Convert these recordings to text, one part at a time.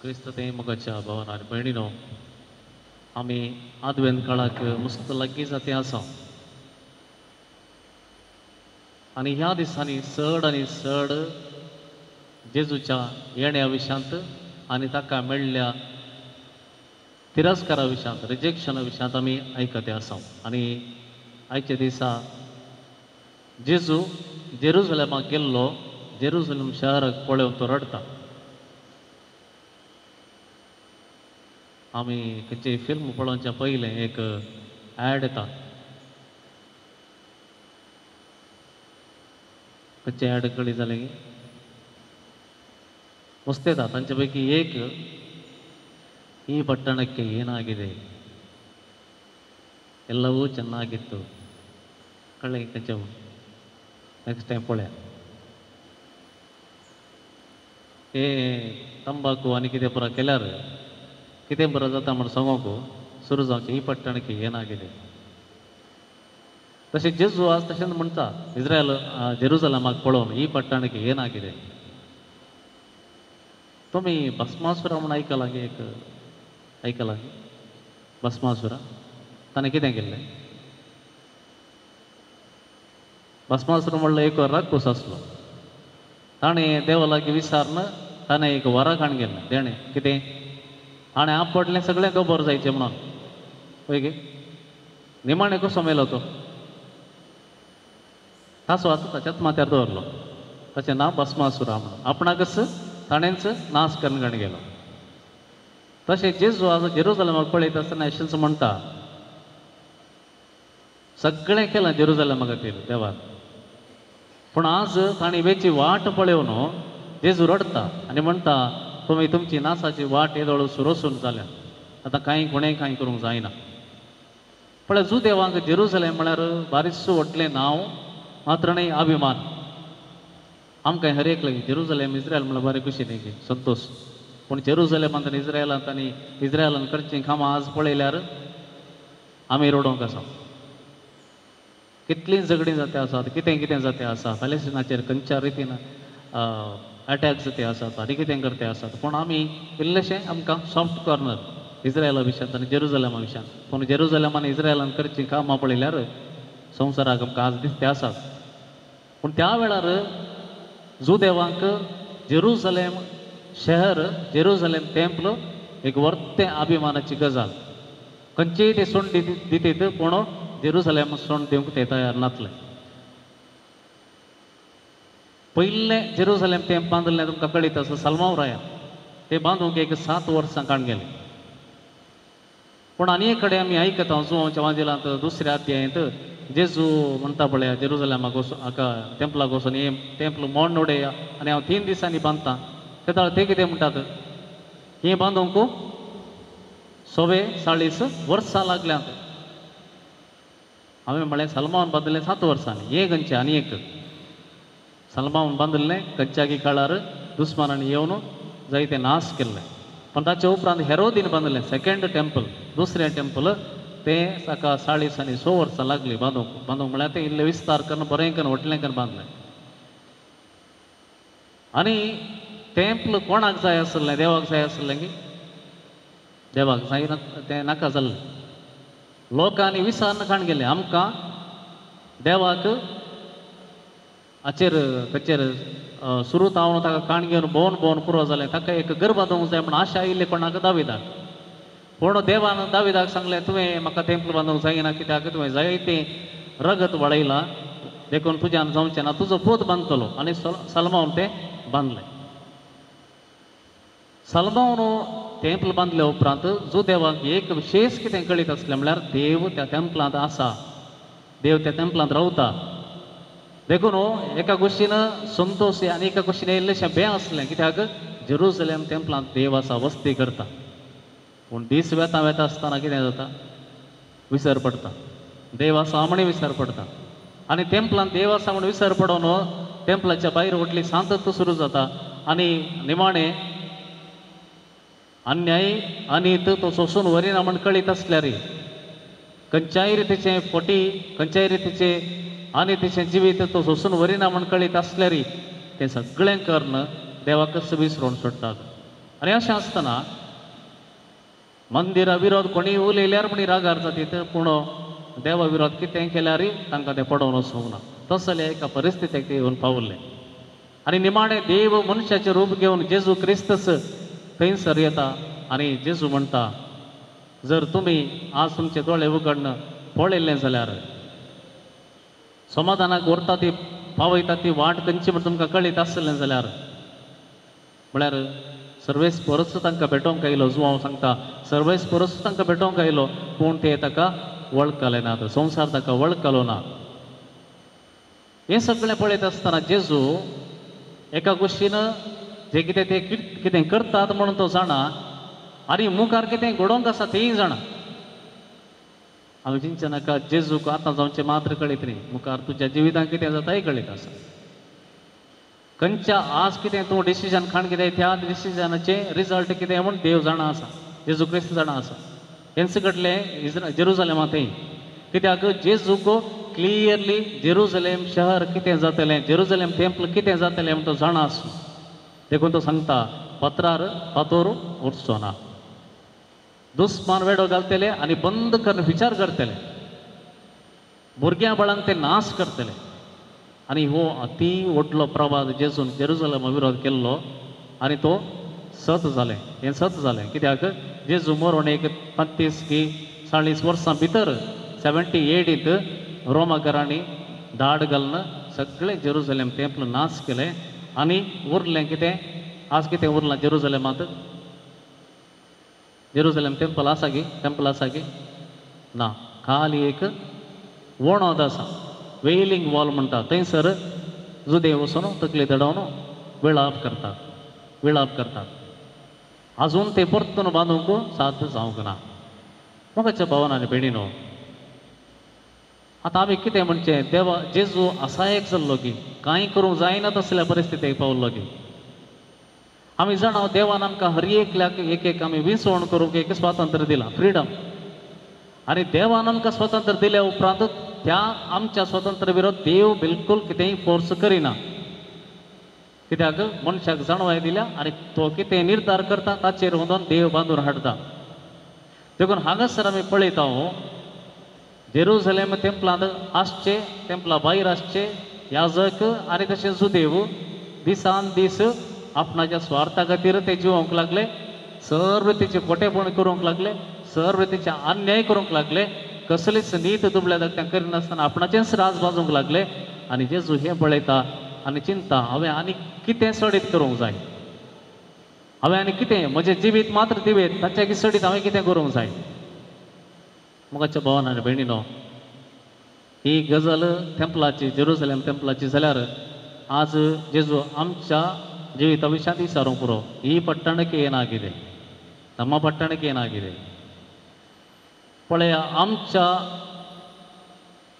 क्रिस्त ते मोगाच्या भावान आनी भयणीनो, आमी आदवेंत काळाक मस्त लागीं जाते आसा आनी ह्या दिसांनी चड आनी चड जेजूच्या येण्या विशयांत आनी ताका मेळ्ळ्या तिरस्कारा विशयांत, रिजेक्शना विशयांत आमी आयकते आसा. आनी आयच्या दिसा जेजू जेरुजलेमाक गेल्लो, जेरुजलेम शहराक पळोवन तो रडटा. आमी खंयचें फिल्म पळोवच्या पयलें एक एड येता. खंयचें एड कळ्ळी जालें मस्त येता. तांचे पैकी एक, ಈ ಪಟ್ಟಣಕ್ಕೆ ಏನಾಗಿದೆ, ಎಲ್ಲವೂ ಚೆನ್ನಾಗಿತ್ತು. ಕಳ್ಳಿ ಕಂಚವು ನೆಕ್ಸ್ಟ್ ಟೈಮ್ ಪೊಳೆ ए ತಂಬಾಕು आनी कितें पुरा केल्यार कितें बरो जाता म्हण सांगूंक सुरू जावचें, ही पट्टणಕ್ಕೆ ಏನಾಗಿದೆ. तशें जेजू आज तशेंच म्हणटा, इस्रायल जेरुजलमाक पळोवन ही पट्टणಕ್ಕೆ ಏನಾಗಿದೆ. तुमी भस्मासुरा म्हूण आयकलां गे? एक आयकलां भस्मासुरा? ताणें कितें केल्लें? भस्मासुर म्हणल्यार एक राक्षस आसलो. ताणें देवा लागीं विचारून ताणें एक वरां काण गेल्लें. तेणें कितें हाणें आपडलें सगळें गोबर जायचें म्हणून. पळय गे निमाणें कसो मेलो तो? ताचो आतां ताच्याच माथ्यार दवरलो. ताचें नांव भस्मासुरा म्हणून. आपणाकच ताणेंच नाश करून काण गेलो. तशें जेजू आज जेरुजलमाक पळयता आसतना अशेंच म्हणटा, सगळें केलां जेरुजलमा खातीर देवान, पूण आज तांणी वेची वाट पळोवन जेजू रडटा आनी म्हणटा, तुमी तुमची नासाची वाट येदोळ सुरोसून जाल्या, आतां कांय कोणें कांय करूंक जायना. पळय जुदेवांक जेरुजलेम म्हळ्यार बारीस व्हडलें नांव, मात्र न्हय अभिमान. आमकां हर एक लागीं जेरुजलेम इस्रायल म्हळ्यार बरें खुशी न्ही की संतोश. पूण जेरुजलेमांत आनी इस्रायलांत आनी इस्रायलान करचीं कामां आज पळयल्यार आमी रडोवंक आसा. कितलीं झगडीं जाते आसात, कितें कितें जाते आसा, पॅलेस्टिनाचेर खंयच्या रितीन अटॅक जाते आसात आनी कितें करते आसात. पूण आमी इल्लेशें आमकां सॉफ्ट कॉर्नर इस्रायला विशयांत आनी जेरुजलेमा विशयांत. पूण जेरुजलेम आनी इस्रायलान करचीं कामां पळयल्यार संवसाराक आमकां आज दिसते आसात. पूण त्या वेळार जुदेवांक जेरुजलेम शहर, जेरुजलेम टेम्पल एक वर्तें अभिमानाची गजाल. खंयचेय ते सोंड दितीत, पूण जेरुजलेम सोंड दिवंक ते तयार नासले. पयलें जेरुजलेम तें बांदिल्लें तुमकां कळीत आसा, सलमाव रायान. तें बांदूंक एक 7 वर्सां काण गेलें. पूण आनी एक कडेन आमी आयकता जुवांच्या वांजेलांत दुसऱ्या अध्यायांत जेजू म्हणटा, पळया जेरुजलेमाक वचून हाका टेम्पलाक वचून हें टेम्पल मोड उडया आनी हांव 3 दिसांनी बांदता. तेदळा ते कितें म्हणटात, हें बांदूंक 44 वर्सां लागल्यांत. हांवें म्हळें सलमान बांदिल्लें 7 वर्सांनी, हें खंयचें आनी एक सलमान बांदिल्लें खंयच्यागी काळार दुस्मानांनी येवन जायते नाश केल्लें. पूण ताचे उपरांत हेरोदीन बांदिल्लें सेकेंड टेम्पल, दुसरें टेम्पल, तें ताका 40 आनी 6 वर्सां लागलीं बांदूंक. बांदूंक म्हळ्यार तें इल्लें विस्तार करून बरें करून व्हडलें करून बांदलें. आनी टेम्पल कोणाक जाय आसलें? देवाक जाय आसलें की? देवाक जायना, तें नाका जाल्लें. लोकांनी विसारन काण गेलें आमकां देवाक हाचेर खंयचेर सुरू तावन ताका काण घेवन भोंवन भोंवन पुरो जालें. ताका एक घर बांदूंक जाय म्हूण आशा आयिल्ली कोणाक? दाविदाक. पूण देवान दाविदाक सांगलें, तुवें म्हाका टेम्पल बांदूंक जायना, कित्याक तुवें जायतें रगत वाडयलां, देखून तुज्यान जावचें ना, तुजो पूत बांदतलो. आनी सलमावन तें बांदलें. सलमावन टेम्पल बांदले उपरांत जुदेवाक एक विशेश कितें कळीत आसलें म्हळ्यार देव त्या टेम्पलांत आसा, देव त्या टेम्पलांत रावता. देखून एका गोश्टीन संतोश आनी एका गोश्टीन इल्लेशें बें आसलें, कित्याक जेरुजलेम टेम्पलांत देव आसा, वस्ती करता. पूण दीस वेता वेता आसतना कितें जाता? विसर पडटा. देव आसा म्हण विसर पडटा. आनी टेम्पलांत देव आसा म्हण विसर पडोवन टेम्पलाच्या भायर व्हडली सांतत्व सुरू जाता आनी निमाणें अन्याय आनी तो सोसून व्हरिना म्हण कळीत आसल्यार खंयच्याय रितीचें फटी, खंयच्याय रितीचें आनी तिचें जिवीत तो सोसून व्हरिना म्हण कळीत आसल्यार तें सगळें करून देवाकच विसरून सोडटात. आनी अशें आसतना मंदिरा विरोध कोणी उलयल्यार म्हणी रागार जातीत, पूण देवा विरोध कितें केल्यार तांकां तें पडोवन वचूंक ना. तसले एका परिस्थितीक ते येवन पावले. आनी निमाणें देव मनशाचें रूप घेवन जेजू क्रिस्तस थंयसर येता आनी जेजू म्हणटा, जर तुमी आज तुमचे दोळे उगडून पळयल्लें जाल्यार समाधानाक व्हरता ती पावयता ती वाट खंयची म्हण तुमकां कळीत आसलें जाल्यार, म्हळ्यार सर्वेस परस तांकां भेटोवंक आयलो. जुवांव सांगता सर्वेस परस तांकां भेटोवंक आयलो, पूण ते ताका वळखले नात, संवसार ताका वळखलो ना. हें सगळें पळयत आसतना जेजू एका गोश्टीन जे कितें ते कितें करतात म्हणून तो जाणा आनी मुखार कितें घडोवंक आसा तेंय जाणा. हांवें चिंतचें नाका जेजूक आतां जावचें मात्र कळीत न्ही, मुखार तुज्या जिवितांत कितें जाता हें कळीत आसा. खंयच्या आज कितें तूं डिसिजन खाण कितें त्या डिसिजनाचें रिजल्ट कितें म्हूण देव जाणा आसा, जेजू क्रिस्त जाणा आसा. हेंच घडलें जेरुजलेमांत थंय, कित्याक जेजूक क्लियरली जेरुजलेम शहर कितें जातलें, जेरुजलेम टेम्पल कितें जातलें म्हूण तो जाणा आसलो. देखून तो सांगता पत्रार फातोर उरचो ना, दुस्मान वेडो घालतले आनी बंद करून विचार करतले, भुरग्यां बाळांक ते नाश करतले. आनी हो अती व्हडलो प्रवाद जेजून जेरुजलेमा विरोध केल्लो आनी तो सत जालें, हें सत जालें. कित्याक जेजू मरोण एक 35 की 40 वर्सां भितर 78 रोमाकरांनी धाड घालून सगळें जेरुजलेम टेम्पल नाश केलें. आनी उरलें कितें? आज कितें उरलां जेरुजलेमांत? जेरुजलेम टेम्पल आसा गी? टेम्पल आसा गी? ना, खाली एक वणद आसा, वेलिंग वॉल म्हणटा. थंयसर जुदे वचून तकली दडोवन विळाप करतात, विळाप करतात. अजून ते परतून बांदूंक साध्य जावंक ना. मोगाच्या भावान आनी भयणीनो, आतां आमी कितें म्हणचें? देवा जेजू असायक जाल्लो की कांय करूंक जायना तसल्या परिस्थितीक पावल्लो की आमी जाणा देवान आमकां हर एकल्याक एक एक आमी विसवण करूंक एक स्वातंत्र्य दिलां, फ्रिडम. आनी देवान आमकां स्वातंत्र्य दिल्या उपरांत त्या आमच्या स्वातंत्र्य विरोध देव बिलकुल कितेंय फोर्स करिना. कित्याक मनशाक जाणवाय दिल्या आनी तो कितें निर्धार करता ताचेर वचून देव बांदून हाडटा. देखून हांगासर आमी पळयता जेरुजलेम टेम्पलांत आसचे, टेम्पला भायर आसचे याजक आनी तशें जुदेव दिसान दीस आपणाच्या स्वार्था खातीर ते जिवोवंक लागले, सर्व तेचे खोटेपण करूंक लागले, सर्व तेचे अन्याय करूंक लागले, कसलीच नीत दुबळ्या धाकट्यां करिनासतना आपणाचेंच राज बाजूंक लागले. आनी जेजू हें पळयता आनी चिंता, हांवें आनी कितें सडीत करूंक जाय, हांवें आनी कितें म्हजें जिवीत मात्र दिवेत ताच्या सडीत हांवें कितें करूंक जाय. मोगाच्या भावान आनी भयणीनो, ही गजाल टेम्पलाची, जेरुजलेम टेम्पलाची जाल्यार आज जेजू आमच्या जिविता विशयांत विचारूंक पुरो. ही ಪಟ್ಟಣಕ್ಕೆ ಏನಾಗಿದೆ, ನಮ್ಮ ಪಟ್ಟಣಕ್ಕೆ ಏನಾಗಿದೆ पळया. आमच्या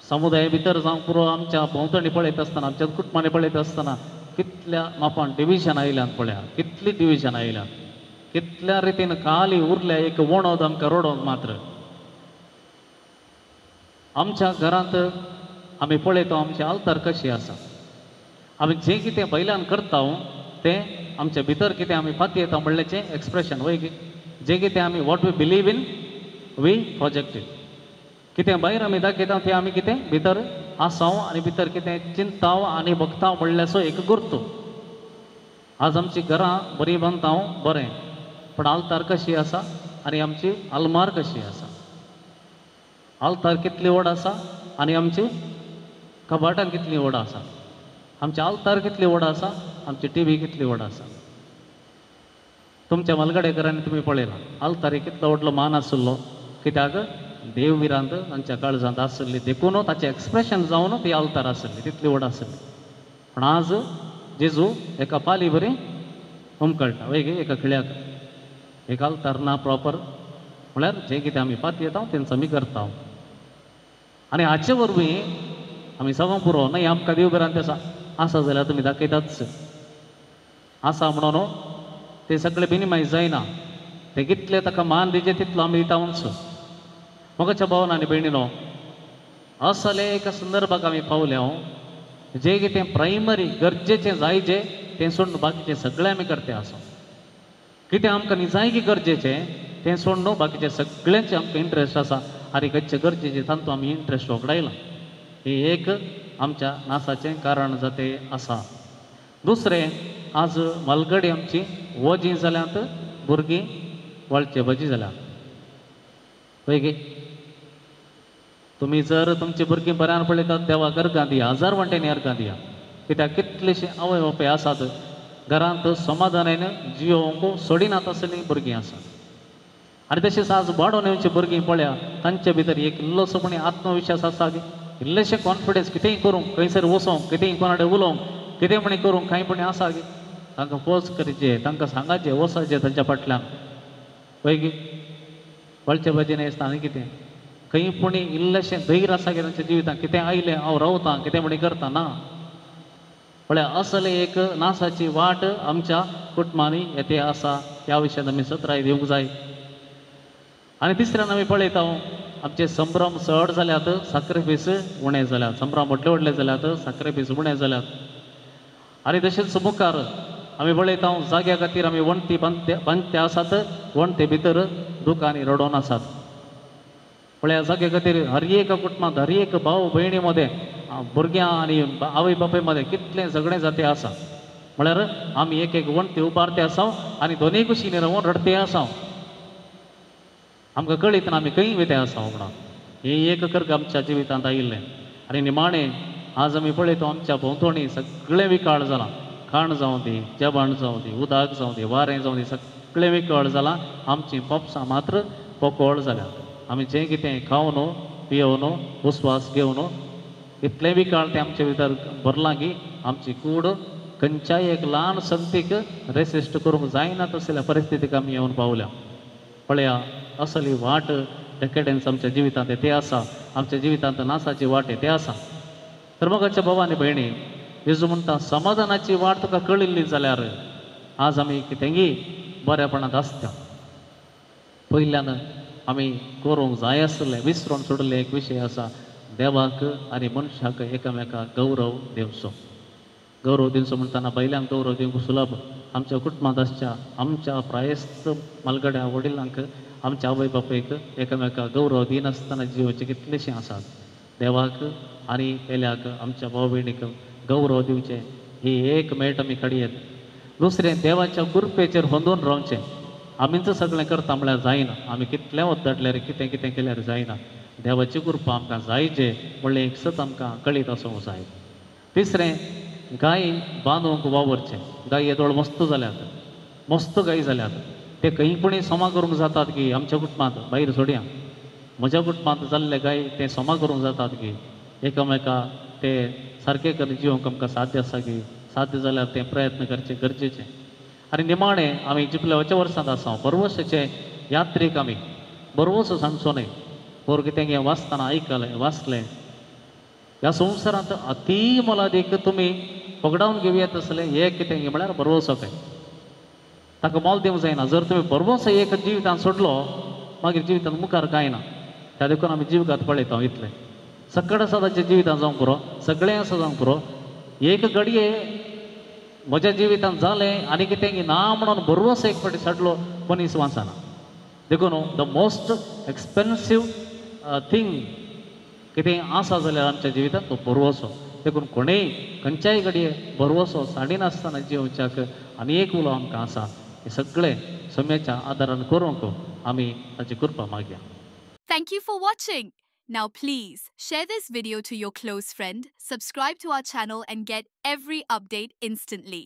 समुदाय भितर जावंक पुरो, आमच्या भोंवतणी पळयत आसतना, आमच्या कुटुंबांनी पळयत आसतना कितल्या मापान डिविजन आयल्यान पळया, कितली डिविजन आयल्यान, कितल्या रितीन खाली उरल्या एक वणद आमकां रडोवंक मात्र. आमच्या घरांत आमी पळयता आमची आल्तार कशी आसा, आमी जें कितें बैलान करता तें आमच्या भितर कितें आमी पातयेता म्हणल्याचें एक्सप्रेशन वय की जें कितें आमी what we believe in we project it. कितें भायर आमी दाखयता तें आमी कितें भितर आसाव आनी भितर कितें चिंताव आनी भक्ताव म्हणल्याचो एक गुर्तो. आज आमची घरां बरीं बांदता बरें, पूण आल्तार कशी आसा आनी आमची आलमार कशी आसा, आल्तार कितली व्हड आसा आनी आमची कबाटां कितली व्हड आसा, आमची आल्तार कितली व्हड आसा, आमची टी व्ही कितली व्हड आसा. तुमच्या मलगडेकरांनी तुमी पळयलां आल्तारी कितलो व्हडलो मान आशिल्लो, कित्याक देव विरांत तांच्या काळजांत आशिल्ली, देखून ताचें एक्सप्रेशन जावन ती आल्तार आशिल्ली, तितली व्हड आशिल्ली. पूण आज जेजू एका पाली बरी हुमकळटा वय एका खिळ्याक, एक आल्तार ना प्रॉपर, म्हळ्यार जें कितें आमी पातयेता तेंच आमी करता. आनी हाचे वरवीं आमी सगळो पुरो न्हय आमकां देव भिरांत आसा, आसा जाल्यार तुमी दाखयताच आसा म्हणून ते सगळे मिनिमायज जायना, ते कितले ताका मान दिचे तितलो आमी दिता वच. मोगाच्या भावान आनी भयणीनो, असले एका संदर्भाक आमी पावले हांव जें कितें प्रायमरी गरजेचें जाय जें तें सोडून बाकीचें सगळें आमी करते आसा. कितें आमकां निजायकी गरजेचें तें सोडून बाकीचें सगळ्यांचें आमकां इंट्रस्ट आसा आनी खंयचें गरजेचें तातूंत आमी इंट्रस्ट वगडायला. हें एक आमच्या नासाचें कारण जाते आसा. दुसरें, आज मालगडी आमची वजीं जाल्यात, भुरगीं वळचे भजी जाल्यात. पळय गे, तुमी जर तुमची भुरगीं बऱ्यान पळयतात देवाक अर्गां दिया, हजार वांट्यांनी अर्गां दिया. कित्याक कितलेशीं आवय बापूय आसात घरांत समाधानान जियोवंक सोडिनात असलीं भुरगीं आसात. आनी तशेंच आज वाडोवन येवची भुरगीं पळया, तांचे भितर एक इल्लोसो कोणी आत्मविश्वास आसा की इल्लेशें कॉन्फिडन्स कितेंय करूंक, खंयसर वचोंक, कितेंय कोणा कडेन उलोवंक, कितें म्हणी करूंक कांय पणी आसा की तांकां फोर्स करचें, तांकां सांगाचें, वचचें तांच्या फाटल्यान. पळय की वळचे भाजी आसता आनी कितें खंय पुणी इल्लेशें धैर्य आसा की तांच्या जिवितांत कितें आयलें हांव रावतां, कितें म्हणी करता ना. पळया असले एक नासाची वाट आमच्या कुटुंबांनी येते आसा. ह्या विशयांत आमी सतराय दिवंक जाय. आनी तिसऱ्यान आमी पळयता आमचे संभ्रम चड जाल्यात, साक्रिफीस उणें जाल्यात. संभ्रम व्हडले व्हडले जाल्यात, साक्रिफीस उणें जाल्यात. आनी तशेंच मुखार आमी पळयता जाग्या खातीर आमी वण्टी बांदते आसात, वण्टी भितर दुकांनी रडोवन आसात. पळया जाग्या खातीर हर एक कुटुंबांत हर एक भाव भयणी मदें, भुरग्यां आनी आवय बापाय मदें कितलें झगडें जाते आसा. म्हळ्यार आमी एक एक वण्टी उबारते आसा आनी दोनूय कुशींनी रावन रडते आसा. आमकां कळीत ना आमी खंय वयते आसा म्हणून. हें एक कर्ग आमच्या जिवितांत आयिल्लें. आनी निमाणें आज आमी पळयता आमच्या भोंवतणी सगळें विकाळ जालां. खाण जावं दी, जेवण जावं दी, उदक जावं दी, वारें जावं दी, सगळें विकळ जालां. आमचीं पोपसां मात्र पोकोळ जाल्यात. आमी जें कितें खावन पियोवन उस्वास घेवन इतलें विकाळ तें आमचे भितर भरलां की आमची कूड खंयच्याय एक ल्हान संगतीक रेसिस्ट करूंक जायना तसल्या परिस्थितीक आमी येवन पावल्या. पळया असली वाट डेकेडन्स आमच्या जिवितांत ते आसा, आमच्या जिवितांत नासाची वाट ते आसा. तर मोगाच्या भाव आनी भयणी, जेजू म्हणटा समाधानाची वाट तुका कळिल्ली जाल्यार आज आमी कितेंगी बऱ्यापणांत आसता. पयल्यान आमी करूंक जाय आसलें विसरून सोडिल्लें एक विशय आसा, देवाक आनी मनशाक एकामेकाक गौरव दिवचो. गौरव दिवचो म्हणटना बायल्यांक गौरव दिवंक सुलभ. आमच्या कुटुंबांत आसच्या आमच्या प्रायस्त मालगड्या वडिलांक, आमच्या आवय बापायक एकामेकाक गौरव दिनासतना जिवचे कितलेशे आसात. देवाक आनी पेल्याक आमच्या भाव भयणीक गौरव दिवचें ही एक मेट आमी काडयेत. दुसरें, देवाच्या कृपेचेर होंदून रावचें. आमीच सगळें करता म्हळ्यार जायना, आमी कितलें वद्दडल्यार कितें कितें केल्यार जायना. देवाची कृपा आमकां जायचे म्हणलें एक सत आमकां कळीत आसूंक जाय. तिसरें, गाय बांदूंक वावरचें. गाय येदोळ मस्त जाल्यात, मस्त गाय जाल्यात, ते खंय पुणी सोमा करूंक जातात की आमच्या कुटुंबांत भायर सोडया. म्हज्या कुटुंबांत जाल्ले गाय ते सोमा करूंक जातात की एकामेका ते सारके करून जिवंक आमकां साध्य आसा की साध्य जाल्यार ते प्रयत्न करचे गरजेचे. आनी निमाणें आमी जिपल्याच्या वर्सांत आसा, बरवसाचे यात्रीक आमी बरवसो सांगचो न्हय. पोर कितें वाचतना आयकलें वाचलें, ह्या संवसारांत अती मोलादीक तुमी पगडावन घेवया तसलें एक कितें म्हळ्यार बरवसो काय ताका मोल दिवंक जायना. जर तुमी बरवसो एक जिवितांत सोडलो मागीर जिवितांत मुखार कांय ना. त्या देखून आमी जिवगात पळयता इतलें सकड आसा ताच्या जिवितांत जावंक पुरो, सगळें आसा जावंक पुरो. एक घडये म्हज्या जिवितांत जालें आनी कितें ना म्हणून बरवसो एक फावटी साडलो मनीस वाचना. देखून the most expensive thing कितें आसा जाल्यार आमच्या जिवितांत तो बरवसो. देखून कोणेय खंयच्याय घडये बरवसो साडिनासतना जिवच्याक आनी एक उलो आमकां आसा. हें सगळें सम्याच्या आदारान करूंक आमी ताची कृपा मागया. Thank you for watching. Now please share this video to your close friend, subscribe to our channel and get every update instantly.